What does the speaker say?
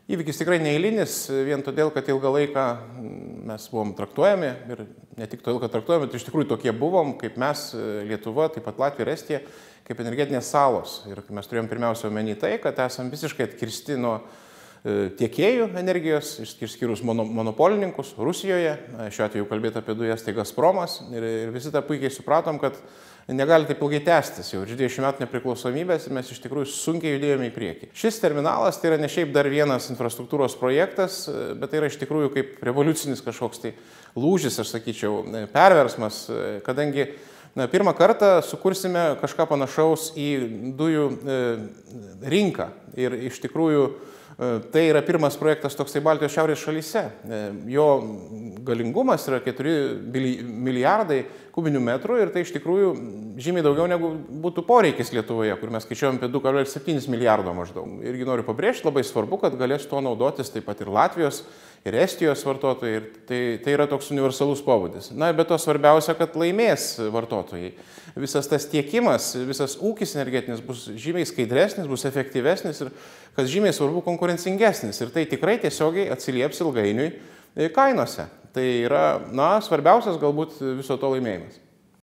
Įvykis tikrai neeilinis, vien todėl, kad ilgą laiką mes buvom traktuojami ir ne tik todėl, kad traktuojami, bet iš tikrųjų tokie buvom, kaip mes, Lietuva, taip pat Latvija ir Estija, kaip energetinės salos. Ir mes turėjom pirmiausia omeny tai, kad esam visiškai atkirsti nuo tiekėjų energijos, išskyrus monopolininkus Rusijoje, šiuo atveju kalbėti apie dujas, tai Gazpromas, ir visi tą puikiai supratom, kad negali taip ilgai tęstis, jau 20 metų nepriklausomybės ir mes iš tikrųjų sunkiai judėjome į priekį. Šis terminalas tai yra ne šiaip dar vienas infrastruktūros projektas, bet tai yra iš tikrųjų kaip revoliucinis kažkoks tai lūžis, aš sakyčiau, perversmas, kadangi pirmą kartą sukursime kažką panašaus į dujų rinką ir iš tikrųjų tai yra pirmas projektas toksai Baltijos šiaurės šalyse. Jo galingumas yra 4 milijardai kubinių metrų ir tai iš tikrųjų žymiai daugiau negu būtų poreikis Lietuvoje, kur mes skaičiuojam apie 2,7 milijardo maždaug. Irgi noriu pabrėžti, labai svarbu, kad galės tuo naudotis taip pat ir Latvijos, ir Estijos vartotojai. Ir tai yra toks universalus pobūdis. Na, bet to svarbiausia, kad laimės vartotojai. Visas tas tiekimas, visas ūkis energetinis bus žymiai skaidresnis, bus efektyvesnis ir, kas žymiai svarbu, konkurencingesnis. Ir tai tikrai tiesiogiai atsilieps ilgainiui kainose. Tai yra, svarbiausias galbūt viso to laimėjimas.